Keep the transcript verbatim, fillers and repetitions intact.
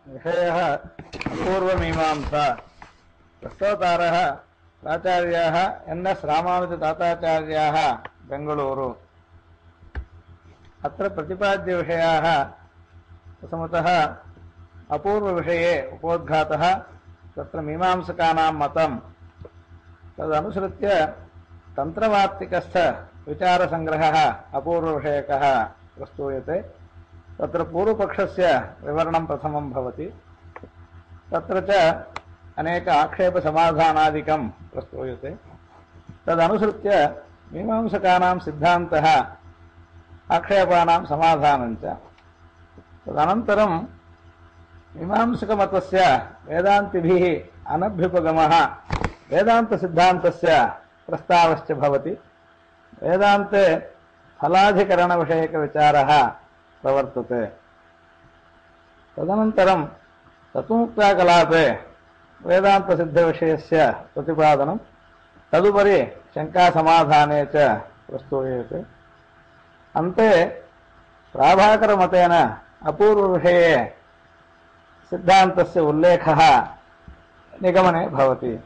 विषयः अपूर्वमीमांसा। प्रस्तोतारः प्राचार्याः N S रामानुजताताचार्याः Bengaluru. अत्र प्रतिपाद्यविषयाः प्रथमतः अपूर्वविषये उपोद्घातः तत्र मीमांसकानां मतं तदनुसृत्य तन्त्रवार्तिकस्थ विचारसङ्ग्रहः अपूर्वविषयकः प्रस्तूयते। तत्र पूर्वपक्षस्य विवरणं प्रथमं भवति। तत्र च अनेक आक्षेपसमाधानादिकं प्रस्तूयते। तदनुसृत्य मीमांसकानां सिद्धान्तः आक्षेपानां समाधानं च। तदनन्तरं मीमांसकमतस्य वेदान्तिभिः अनभ्युपगमः वेदान्तसिद्धान्तस्य प्रस्तावश्च भवति। वेदान्ते फलाधिकरणविषयकविचारः प्रवर्तते। तदनन्तरं तत्त्वमुक्ताकलापे वेदान्तसिद्धविषयस्य प्रतिपादनं, तदुपरि शङ्कासमाधाने च प्रस्तूयते। अन्ते प्राभाकरमतेन अपूर्वविषये सिद्धान्तस्य उल्लेखः निगमने भवति।